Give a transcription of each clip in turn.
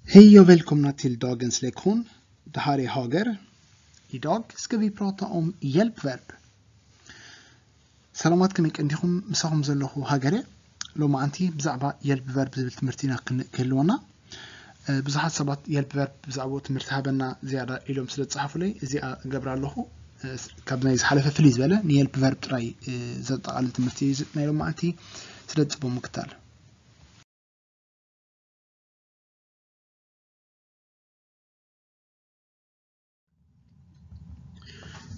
Hej och välkomna till dagens lektion. Det här är Hager. Idag ska vi prata om hjälpverb. ሰላማት ከመይ ቀንዲኹም? ምሳኹም ዘለኹ ሃገር እየ። ሎማዓንቲ ብዛዕባ የልፕ ቨርብ ዝብል ትምህርቲ ኢና ክን- ክህልወና። እ፣ ብዙሓት ሰባት የልፕ ቨርብ ብዛዕባኡ ትምህርቲ ሃበና ዝያዳ ኢሎም ስለ ዝጸሓፉለይ እዚኣ እገብራ ኣለኹ። እ፣ ካብ ናይ ዝሓለፈ ፍልይ ዝበለ ንየልፕ ቨርብ ጥራይ፣ እ፣ ዘጠቓልል ትምህርቲ እዩ እዚ ናይ ሎማዓንቲ። ስለ ዝጽቡቕ ምክታል።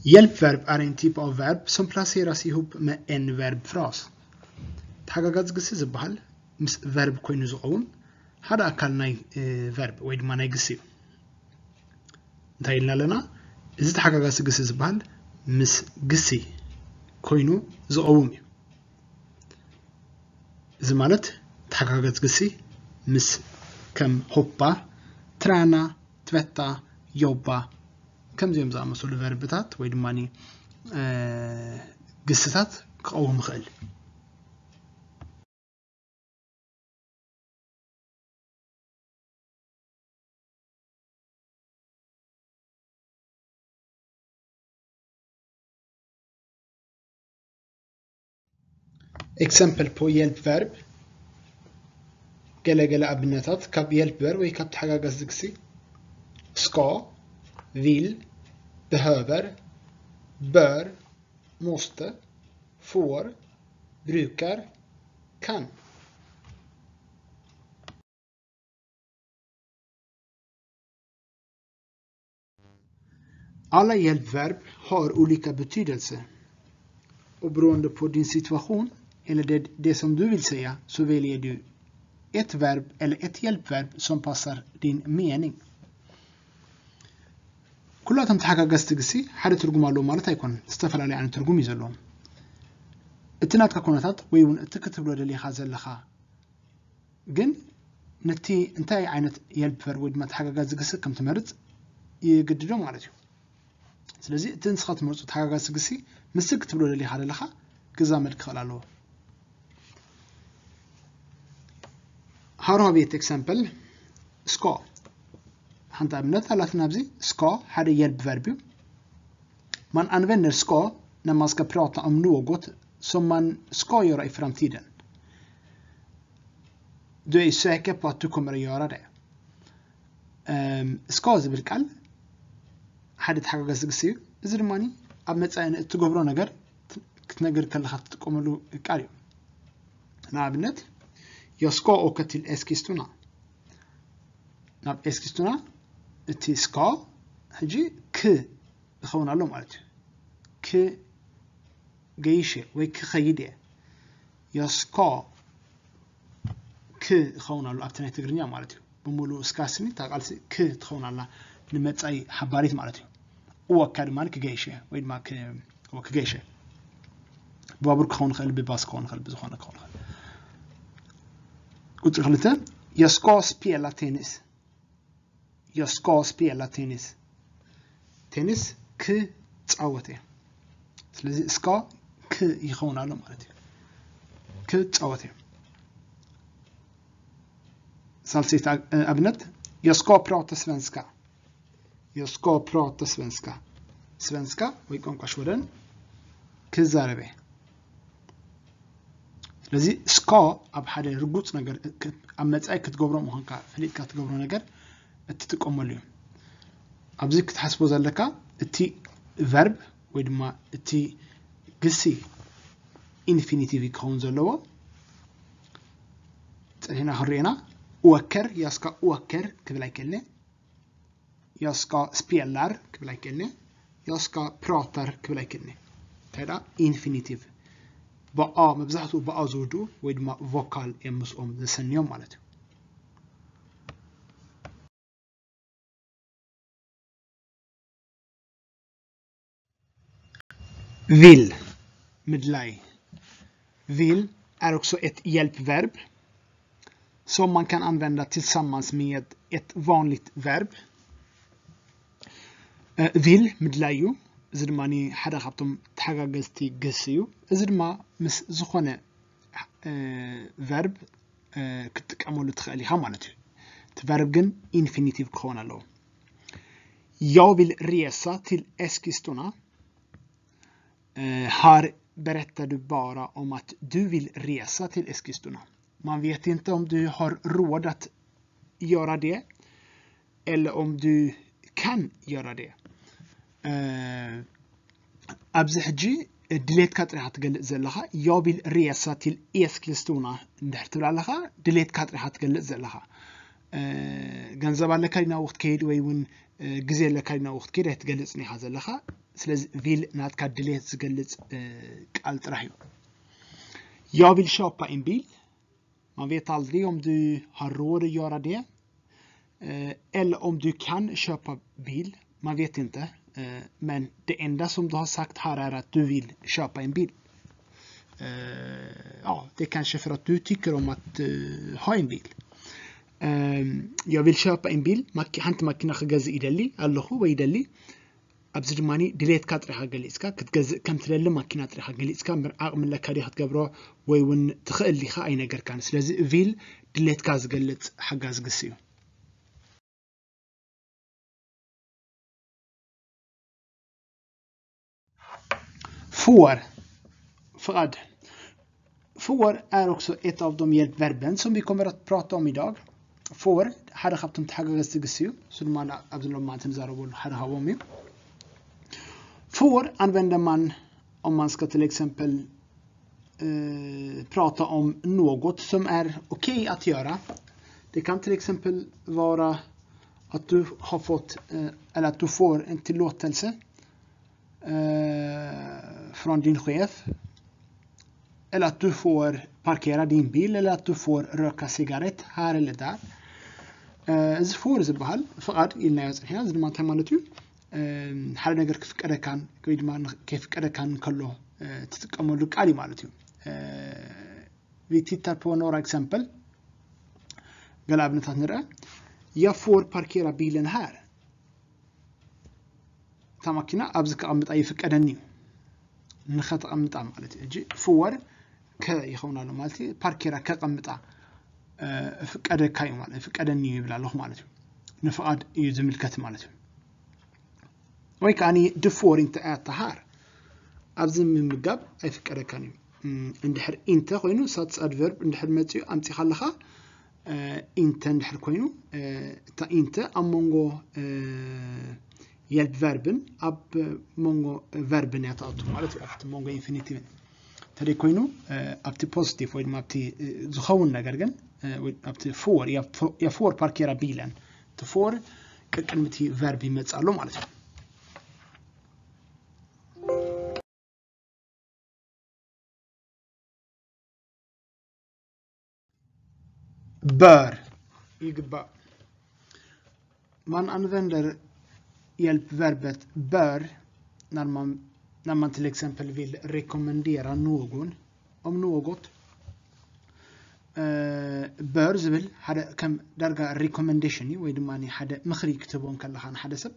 Hjälpverb är en typ av verb som placeras ihop med en verbfras. ተሓጋጋዚ ግሲ ዝበሃል ምስ ቨርብ ኮይኑ ዝኸውን ሓደ ኣካል ናይ፣ እ፣ ቨርብ ወይ ድማ ናይ ግሲ እዩ። እንታይ ኢልና ኣለና? እዚ ተሓጋጋዚ ግሲ ዝበሃል ምስ ግሲ ኮይኑ ዝቐውም እዩ። እዚ ማለት ተሓጋጋዚ ግሲ ምስ ከም ሆፓ፣ ትራና፣ ትበታ፣ ዮባ ከምዚኦም ዝኣመሰሉ ቨርብታት ወይ ድማ፣ እ፣ ግስታት ክቐውም ይኽእል። Exempel på hjälpverb. ገለ ገለ ኣብነታት ካብ የልፕ ቨርብ ወይ ካብ ተሓጋጋዚ ግሲ። Ska, vill, behöver, bör, måste, får, brukar, kan. Alla hjälpverb har olika betydelse. Och beroende på din situation eller det, det som du vill säga så väljer du ett verb eller ett hjälpverb som passar din mening. ኩላቶም ተሓጋገዝቲ ግሲ ሓደ ትርጉም ኣለዎ ማለት ኣይኮነን። ዝተፈላለየ ዓይነት ትርጉም እዩ ዘለዎም። እቲ ናትካ ኩነታት ወይ እውን እቲ ክትብሎ ደሊኻ ዘለኻ ግን ነቲ እንታይ ዓይነት የልፕ ቨርብ ወይ ድማ ተሓጋጋዚ ግሲ ከም ትመርጽ ይግድዶ ማለት እዩ። ስለዚ እቲ ንስኻ ትመርጾ ተሓጋጋዚ ግሲ ምስቲ ክትብሎ ደሊኻ ዘለኻ ክዛመድ ክኽእል ኣለዎ። Här har vi ett exempel. Ska. ሓንቲ ኣብነት ኣላትና ኣብዚ። Ska ሓደ የልፕ ቨርብ እዩ። Man använder ska när man ska prata om något som man ska göra i framtiden. Du är säker på att du kommer att göra det. Ehm, ska ዝብል ቃል ሓደ ተሓጋጋዚ ግሲ እዩ። እዚ ድማ ኣብ መጻኢ ንእትገብሮ ነገር ክትነግር ከለኻ ትጥቀመሉ ቃል እዩ። ንኣብነት፣ jag ska åka till Eskilstuna። ናብ ኤስኪስቱና እቲ ska ሕጂ ክ ይኸውን ኣሎ ማለት እዩ። ክገይሽ እየ ወይ ክኸይድ እየ። Jag ska ክ ይኸውን ኣሎ ኣብቲ ናይ ትግርኛ ማለት እዩ። ብምሉእ እስካ ስኒ እታ ቃልሲ ክ ትኸውን ኣላ ንመጻኢ ሓባሪት ማለት እዩ። Åka ድማ ክገይሽ እየ ወይ ድማ ክ-፣ ክገይሽ እየ። ብባቡር ክኸውን ይኽእል፣ ብባስ ክኸውን ይኽእል፣ ብዝኾነ ክኸውን ይኽእል። ቁጽሪ ክልተ፣ jag ska spela tennis። Jag ska spela tennis. ቴኒስ ክጻወት እየ። ስለዚ ska ክ ይኸውን ኣሎ ማለት እዩ። ክጻወት እየ። ሳልሰይቲ ኣ-፣ ኣብነት፣ jag ska prata svenska. Jag ska prata svenska. ስቨንስካ ወይ ቋንቋ ሽወደን ክዛረብ እየ። ስለዚ ska ኣብ ሓደ ርጉጽ ነገር ክ-፣ ኣብ መጻኢ ክትገብሮ ምዃንካ ፈሊጥካ ትገብሮ ነገር እትጥቀመሉ እዩ። ኣብዚ ክትሓስቦ ዘለካ እቲ ቨርብ ወይ ድማ እቲ ግሲ ኢንፊኒቲቭ ክኸውን ዘለዎ። ጸኒሕና ክንሪኦ ኢና። Åker፣ jag ska åker ክብል ኣይክእልን እየ። Jag ska spelar ክብል ኣይክእልን እየ። Jag ska pratar ክብል ኣይክእልን እየ። እንታይ ደኣ ኢንፊኒቲቭ ብኣ፣ መብዛሕትኡ ብኣ ዝውድኡ ወይ ድማ ቮካል እዮም ምስኦም ዘሰንዮም ማለት እዩ። Vill፣ ምድላይ። Vill är också ett hjälpverb som man kan använda tillsammans med ett vanligt verb. Eh, vill ምድላይ እዩ። እዚ ድማ ሓደ ካብቶም ተሓጋገዝቲ ግሲ እዩ። እዚ ድማ ምስ ዝኾነ፣ እ፣ ቨርብ፣ እ፣ ክትጥቀመሉ ትኽእል ኢኻ ማለት እዩ። እቲ እቲ verb ግን infinitive ክኸውን ኣለዎ። Jag vill resa till Eskilstuna. Eh, här berättar du bara om att du vill resa till Eskilstuna. Man vet inte om du har råd att göra det eller om du kan göra det. Eh, ኣብዚ ሕጂ ድሌትካ ጥሪኻ ትገልጽ ዘለኻ። Jag vill resa till Eskilstuna እንድሕር ትብል ኣለኻ፣ ድሌትካ ጥሪኻ ትገልጽ ዘለኻ። ገንዘብ ኣለካ ዲና ወቅት ከይድ ወይ እውን ግዜ ኣለካ ዲና ወቅት ከይድ ኣይትገልጽን ኢኻ ዘለኻ። ስለዚ ቪል ናትካ ድሌት ዝገልጽ ቃል ጥራሕ እዩ። Jag vill köpa en bil. Man vet aldrig om du har råd att göra det. Eh, eller om du kan köpa bil. Man vet inte. Eh, men det enda som du har sagt här är att du vill köpa en bil. Eh, ja, det är kanske för att du tycker om att eh, ha en bil. Eh, jag vill köpa en bil. ሓንቲ ማኪና ክገዝእ ይደሊ ኣለኹ ወይ ይደሊ። ኣብዚ ድማ ድሌትካ ጥሪኻ ገሊፅካ ክትገዝእ ከም ትደሊ ማኪና ጥሪኻ ገሊፅካ እምበር ዓቕሚ ኣለካ ድዩ ክትገብሮ ወይ እውን ትኽእል ዲኻ ኣይነገርካን። ስለዚ ቪል ድሌትካ ዝገልፅ ሓጋዚ ግሲ እዩ። Får. ፍቓድ. Får är också ett av de hjälpverben som vi kommer att prata om idag. Får ሓደ ካብቶም ተሓጋገዝቲ ግሲ እዩ። እሱ ድማ ኣብዚ ሎማዓንቲ ንዛረበሉ ሓደ ካብኦም እዩ። Får använder man om man ska till exempel eh, prata om något som är okej att göra. Det kan till exempel vara att du har fått eh, eller att du får en tillåtelse eh, från din chef. Eller att du får parkera din bil eller att du får röka cigarett här eller där. እዚ ፎር ዝበሃል ፍቓድ ኢልናዮ ፅሒና። እዚ ድማ እንታይ ማለት እዩ? ሓደ ነገር ክፍቀደካን ወይ ድማ ከይፍቀደካን ከሎ ትጥቀመሉ ቃል እዩ ማለት እዩ። Vi tittar på några exempel. ገለ ኣብነታት ንርአ. Jag får parkera bilen här. እታ ማኪና ኣብዚ ከቐምጣ ይፍቀደኒ እዩ። ንኸተቐምጣ ማለት እዩ። ሕጂ ፍወር ከ ይኸውን ኣሎ ማለት እዩ። ፓርኬራ ከቐምጣ እፍቀደካ እዩ ማለት እፍቀደኒ እዩ ይብል ኣለኹ ማለት እዩ። ንፍቓድ እዩ ዝምልከት ማለት እዩ። ወይ ከዓኒ ድፍወር እንተ ኣያተሃር ኣብዚ ምምጋብ ኣይፍቀደካን እዩ። እንድሕር ኢንተ ኮይኑ ሳትስ ኣድቨርብ እንድሕር መፅኡ ኣምፂኻ ኣለኻ። ኢንተ እንድሕር ኮይኑ እታ ኢንተ ኣብ መንጎ የልፕ ቨርብን ኣብ መንጎ ቨርብን እያ ትኣቱ ማለት እዩ። ኣብቲ መንጎ ኢንፊኒቲቭን እንተደይ ኮይኑ ኣብቲ ፖዚቲቭ ወይ ድማ ኣብቲ ዝኸውን ነገር ግን ኣብቲ ፍወር የፍወር ፓርኬራ ቢለን እቲ ፍወር ቅድሚ እቲ ቨርብ ይመፅእ ኣሎ ማለት እዩ። Bör ይግባእ። Man använder hjälpverbet bör när man, när man till exempel vill rekommendera någon om något. Bör ዝብል ሓደ ከም ዳርጋ ሪኮመንዴሽን እዩ ወይ ድማ ሓደ ምኽሪ ክትህቦ ከለኻ ንሓደ ሰብ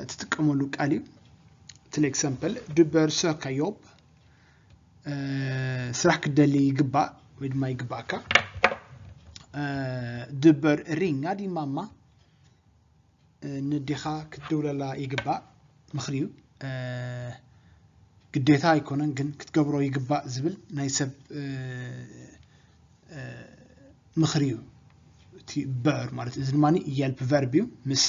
ትጥቀመሉ ቃል እዩ። Till exempel du bör söka jobb. ስራሕ ክትደሊ ይግባእ ወይ ድማ ይግባእካ። Du bör ringa din mamma. ንዴኻ ክትድውለላ ይግባእ። ምኽሪ እዩ። ግዴታ ኣይኮነን ግን ክትገብሮ ይግባእ ዝብል ናይ ሰብ ምኽሪ እዩ። እቲ bör ማለት እዚ ድማ የልፕ ቨርብ እዩ። ምስ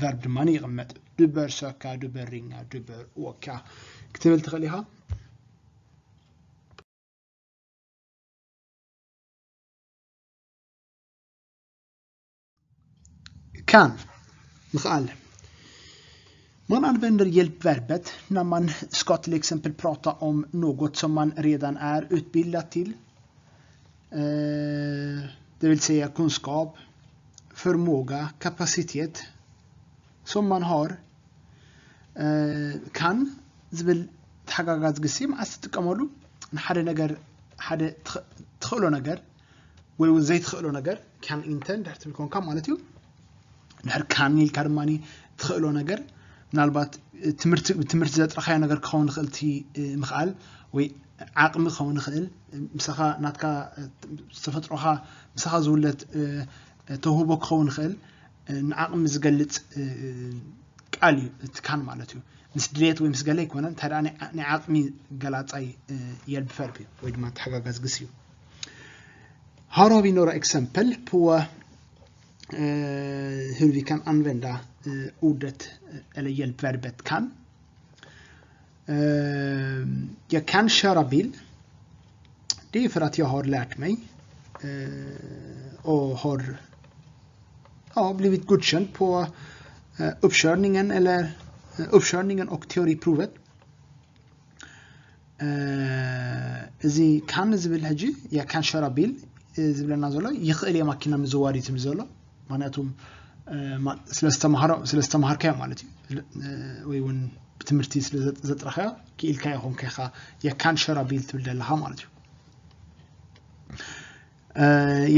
ቨርብ ድማ ይቕመጥ። Du bör söka, du bör ringa, du bör åka ክትብል ትኽእል ኢኻ። Kan. ምኽኣል. Man använder hjälpverbet när man ska till exempel prata om något som man redan är utbildad till. Det vill säga kunskap, förmåga, kapacitet som man har. Kan ዝብል ተሓጋጋዚ ግሲ መዓስ ትጥቀመሉ? ንሓደ ነገር ሓደ ትኽእሎ ነገር ወይ እውን ዘይትኽእሎ ነገር ካን ኢንተ እንድሕር ትብል ኮንካ ማለት እዩ። ድሕር ካን ኢልካ ድማ ትኽእሎ ነገር ምናልባት ትምህርቲ ብትምህርቲ ዘጥረኻዮ ነገር ክኸውን ይኽእል እቲ ምኽኣል ወይ ዓቕሚ ክኸውን ይኽእል ምሳኻ ናትካ ዝተፈጥሮኻ ምሳኻ ዝውለድ ተውህቦ ክኸውን ይኽእል፣ ንዓቕሚ ዝገልጽ ቃል እዩ እቲ ካን ማለት እዩ። ምስ ድሌት ወይ ምስ ገለ ኣይኮነን፣ እንታይ ደኣ ናይ ዓቕሚ ገላጻይ የልብ ቨርብ እዩ ወይ ድማ ተሓጋጋዚ ግስ እዩ። Här har vi några exempel på hur vi kan använda ordet eller hjälpverbet kan. Jag kan köra bil. Det är för att jag har lärt mig och har, ja, blivit godkänd på uppkörningen eller uppkörningen och teoriprovet. እዚ ካን ዝብል ሕጂ፣ jag kan köra bil ዝብለና ዘሎ ይኽእል እየ ማኪና ምዝዋር እዩ ዝብል ዘሎ። ምክንያቱ ስለዝተምሃርካዮ ማለት እዩ፣ ወይ እውን ብትምህርቲ ስለዘጥረኻዮ ክኢልካዮ ኮንካ ኢኻ jag kan köra bil ትብል ዘለኻ ማለት እዩ።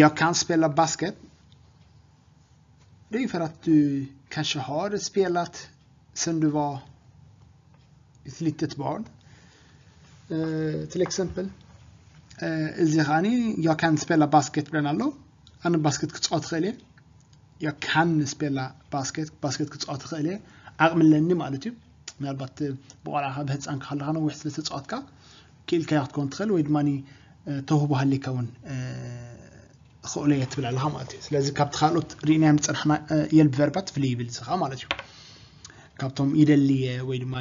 Jag kan spela basket. Det är för att du kanske har spelat sen du var ett litet barn. Till exempel. እዚ ኸዓኒ jag kan spela basket ብለና ኣሎ። ኣነ ባስኬት ክፃወት ኽእል እየ። Jag kan spela basket፣ ባስኬት ክፃወት ኽእል እየ። ዓቕሚ ኣለኒ ማለት እዩ። ምናልባት ብቆልዓኻ ብህፃንካ ከለኻ ነዊሕ ስለ ተፃወትካ ክኢልካዮ ክትከውን ትኽእል ወይ ድማ ተውህቦ ሃሊካ እውን ክእሎ እየ ትብል ኣለኻ ማለት እዩ። ስለዚ ካብቲ ካልኦት ርኢናዮም ዝፀናሕና የልብ ቨርባት ፍልይ ይብል እዚ ኸዓ ማለት እዩ። ካብቶም ይደሊ እየ ወይ ድማ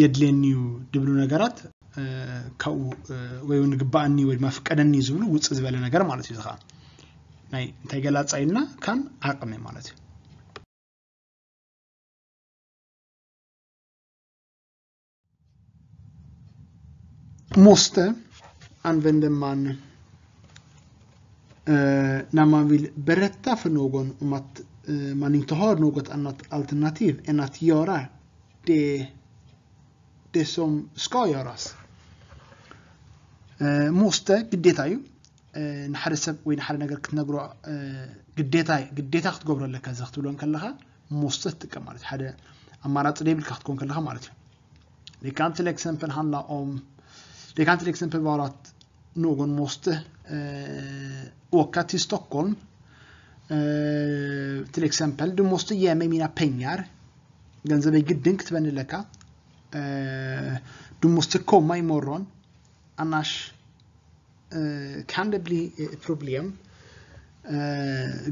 የድልየኒ እዩ ድብሉ ነገራት ካብኡ ወይ እውን ግባኣኒ ወይ ድማ ፍቀደኒ ዝብሉ ውፅእ ዝበለ ነገር ማለት እዩ። እዚ ኸዓ ናይ እንታይ ገላፃ ኢልና ካን ዓቕሚ ማለት እዩ። Måste använder man eh, när man vill berätta för någon om att eh, man inte har något annat alternativ än att göra det, det som ska göras. Eh, måste ግዴታ እዩ። ንሓደ ሰብ ወይ ንሓደ ነገር ክትነግሮ ግዴታ ግዴታ ክትገብሮ ኣለካ። እዚ ክትብሎ ከለኻ måste ትጥቀም ማለት ሓደ ኣማራፂ ዘይብልካ ክትኮን ከለኻ ማለት እዩ። Det kan till exempel handla om, det kan till exempel vara att någon måste eh, åka till Stockholm. Eh, till exempel, du måste ge mig mina pengar. ገንዘበይ ግድን ክትበኒ ኣለካ። Eh, du måste komma imorgon. Annars kan det bli problem.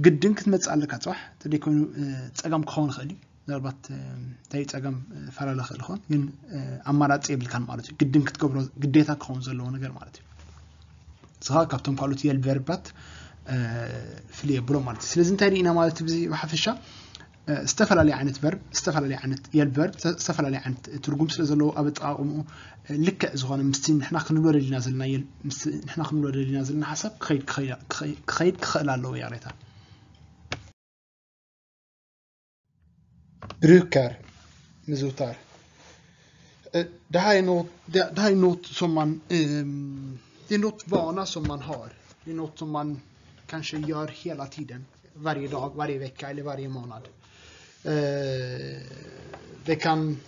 ግድን ክትመፅእ ኣለካ ፅባሕ፣ እንተደይኮይኑ ፀገም ክኸውን ይኽእል እዩ። ምናልባት እንታይ ጸገም ፈላለ ክእል ኾን ግን ኣማራጺ የብልካን ማለት እዩ። ግድን ክትገብሮ ግዴታ ክኸውን ዘለዎ ነገር ማለት እዩ። ስኻ ካብቶም ካልኦት የልብ ቨርባት ፍልይ የብሎ ማለት እዩ። ስለዚ እንታይ ርኢና ማለት እዩ ብዚ ብሓፈሻ ዝተፈላለየ ዓይነት ቨርብ ዝተፈላለየ ዓይነት የልብ ቨርብ ዝተፈላለየ ዓይነት ትርጉም ስለ ዘለዎ ኣብ ኣጠቓቕምኡ ልክዕ ዝኾነ ምስቲ ንሕና ክንብሎ ደሊና ዘለና የል- ምስቲ ንሕና ክንብሎ ደሊና ዘለና ሓሳብ ክኸይድ ክኸይድ ክኸይድ ክኸይድ ክኽእል ኣለዎ ያሬታ። Brukar, ምዝውታር. Eh, Det här är något, det, det här är något som man, ehm, det är något vana som man har. Det är något som man kanske gör hela tiden. Varje dag, varje vecka eller varje månad. Eh, Det kan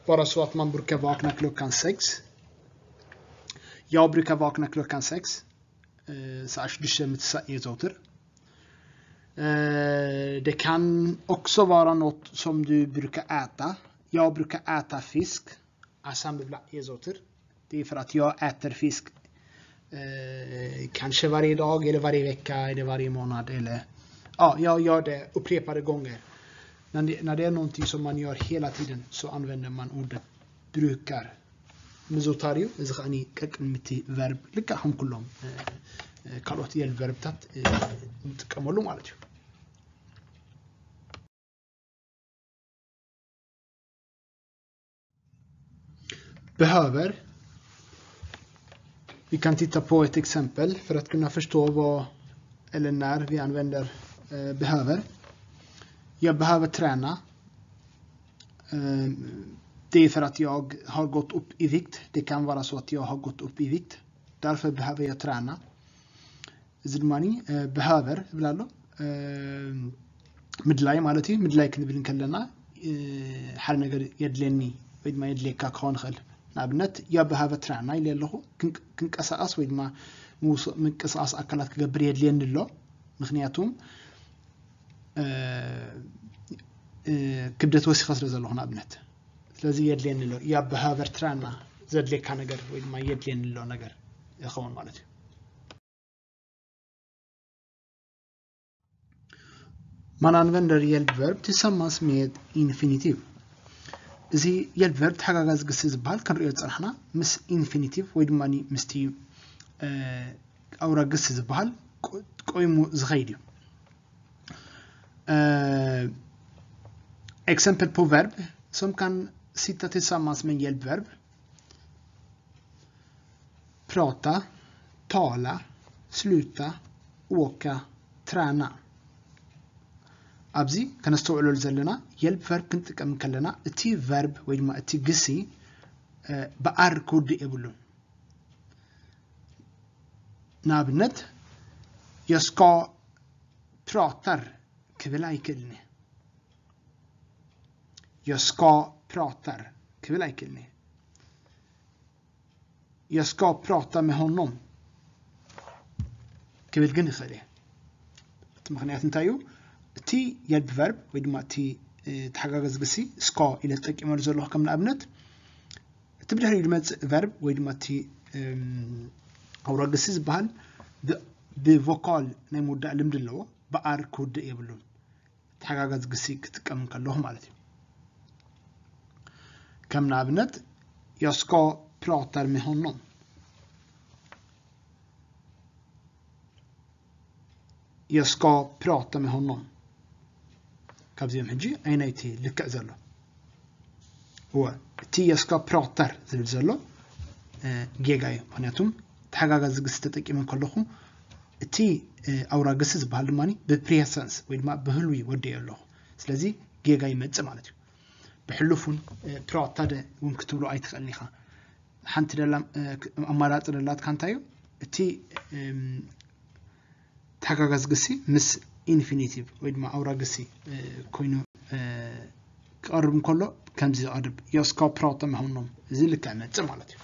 vara så att man brukar vakna klockan sex. Jag brukar vakna klockan sex. Eh, ሰዓት ሽዱሽተ ምትሳእ የዘውትር. Eh, Det kan också vara något som du brukar äta. Jag brukar äta fisk. ዓሳ ምብላዕ የዘውትር. Det är för att jag äter fisk. Eh, kanske varje dag eller varje vecka eller varje månad. Eller, ja, jag gör det upprepade gånger. Men det, när det är någonting som man gör hela tiden så använder man ordet brukar. ምዝውታር እዩ። እዚ ከዓኒ ቀቅድሚ እቲ ቨርብ ልክዕ ከም ኩሎም ካልኦት የል ቨርብታት ንጥቀመሉ ማለት እዩ። Behöver. Vi kan titta på ett exempel för att kunna förstå vad eller när vi använder eh, behöver. Jag behöver träna. Eh, Det är för att jag har gått upp i vikt. Det kan vara så att jag har gått upp i vikt. Därför behöver jag träna. እዚ ድማ ብሃቨር ይብል ኣሎ። ምድላይ ማለት እዩ። ምድላይ ክንብል እንከለና ሓደ ነገር የድልየኒ ወይ ድማ የድልየካ ክኸውን ይኽእል። ንኣብነት jag behöver träna ኢለ ኣለኹ። ክንቀሳቐስ ወይ ድማ ምንቅስቃስ ኣካላት ክገብር የድልየኒ ኣሎ። ምክንያቱም ክብደት ወሲኸ ስለ ዘለኹ ንኣብነት። ስለዚ የድልየኒ ኣሎ። Ja behöver träna ዘድልየካ ነገር ወይ ድማ የድልየኒ ኣሎ ነገር ይኸውን ማለት እዩ። Man använder hjälpverb tillsammans med infinitiv. እዚ hjälpverb ተሓጋጋዚ ግሲ ዝበሃል ክንሪኦ ዝፀናሕና ምስ ኢንፊኒቲቭ ወይ ድማ ምስቲ ኣውራ ግሲ ዝበሃል ቆይሙ ዝኸይድ እዩ። Exempel på verb som kan sitta tillsammans med hjälpverb. Prata, tala, sluta, åka, träna. ኣብዚ ከነስተውዕለሉ ዘለና hjälpverb ክንጥቀም ከለና እቲ verb ወይ ድማ እቲ ግሲ ብኣር ክውድእ የብሉን። ንኣብነት jag ska pratar ክብል ኣይክእልን። Jag ska pratar ክብል ኣይክእልን። Jag ska prata med honom ክብል ግን ይኽእል እየ። እቲ ምክንያት እንታይ እዩ? እቲ hjälpverb ወይ ድማ እቲ ተሓጋጋዚ ግሲ ska ኢለ ተጠቂመሉ ዘለኹ ከም ንኣብነት እቲ ብድሕሪኡ ዝመፅእ verb ወይ ድማ እቲ ኣውራ ግሲ ዝበሃል ብቮካል ናይ ምውዳእ ልምዲ ኣለዎ። ብኣር ክውድእ የብሉን። ተሓጋጋዚ ግሲ ክጥቀም ከለኹ ማለት እዩ። ከም ንኣብነት jag ska prata med honom. Jag ska prata med honom. ካብዚኦም ሕጂ ኣይናይቲ ልክዕ ዘሎ እወ እቲ jag ska pratar ዝብል ዘሎ ጌጋ እዩ። ምክንያቱም ተሓጋጋዚ ግሲ ተጠቂመ ከለኹ እቲ ኣውራ ግሲ ዝበሃል ድማ ብፕሬሰንስ ወይ ድማ ብህልዊ ወደዮ ኣለኹ። ስለዚ ጌጋ ይመፅእ ማለት እዩ። ብሕሉፍ እውን ፕራታደ እውን ክትብሎ ኣይትኽእልን ኢኻ። ሓንቲ ደላ ኣማራፂ ደላትካ እንታይ እዩ? እቲ ተሓጋጋዚ ግሲ ምስ ኢንፊኒቲቭ ወይ ድማ ኣውራ ግሲ ኮይኑ ክቐርብ እንከሎ ከምዚ ዝቐርብ jag ska prata med honom እዚ ልክዕ መፅእ ማለት እዩ።